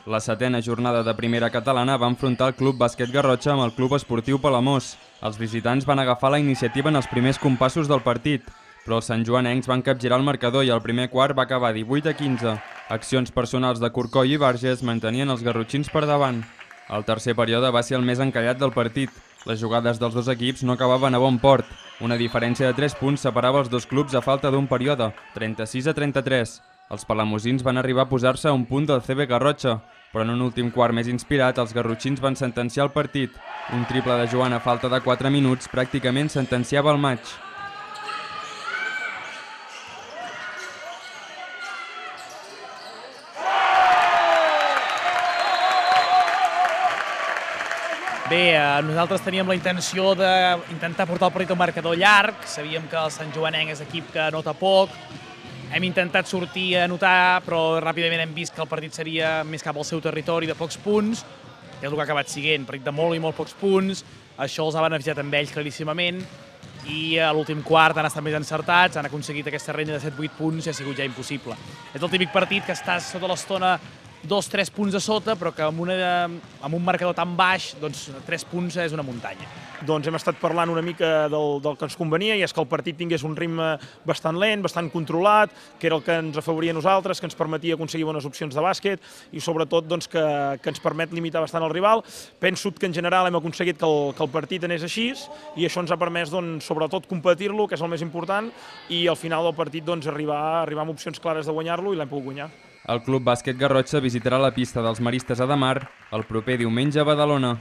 La setena jornada de primera catalana va enfrontar el Club Bàsquet Garrotxa amb el Club Esportiu Palamós. Els visitants van agafar la iniciativa en els primers compassos del partit, però els santjoanencs van capgirar el marcador i el primer quart va acabar 18-15. Accions personals de Corcoll i Barges mantenien els garrotxins per davant. El tercer període va ser el més encallat del partit. Les jugades dels dos equips no acabaven a bon port. Una diferència de 3 punts separava els dos clubs a falta d'un període, 36-33. Els palamosins van arribar a posar-se a un punt del CB Garrotxa, però en un últim quart més inspirat, els garrotxins van sentenciar el partit. Un triple de Joan a falta de 4 minuts pràcticament sentenciava el maig. Bé, nosaltres teníem la intenció d'intentar portar el partit al marcador llarg. Sabíem que el Sant Joanenc és equip que anota poc. Hem intentat sortir a anotar, però ràpidament hem vist que el partit seria més cap al seu territori de pocs punts, que és el que ha acabat sent, partit de molt i molt pocs punts. Això els ha beneficiat amb ells claríssimament. I a l'últim quart han estat més encertats, han aconseguit aquesta renya de 7-8 punts i ha sigut ja impossible. És el típic partit que estàs sota l'estona 2-3 punts a sota, però que amb un marcador tan baix, doncs 3 punts és una muntanya. Doncs hem estat parlant una mica del que ens convenia, i és que el partit tingués un ritme bastant lent, bastant controlat, que era el que ens afavoria a nosaltres, que ens permetia aconseguir bones opcions de bàsquet i sobretot doncs, que ens permet limitar bastant el rival. Penso que en general hem aconseguit que el partit anés així i això ens ha permès doncs, sobretot competir-lo, que és el més important, i al final del partit doncs, arribar amb opcions clares de guanyar-lo i l'hem pogut guanyar. El Club Bàsquet Garrotxa visitarà la pista dels Maristes a Ademar el proper diumenge a Badalona.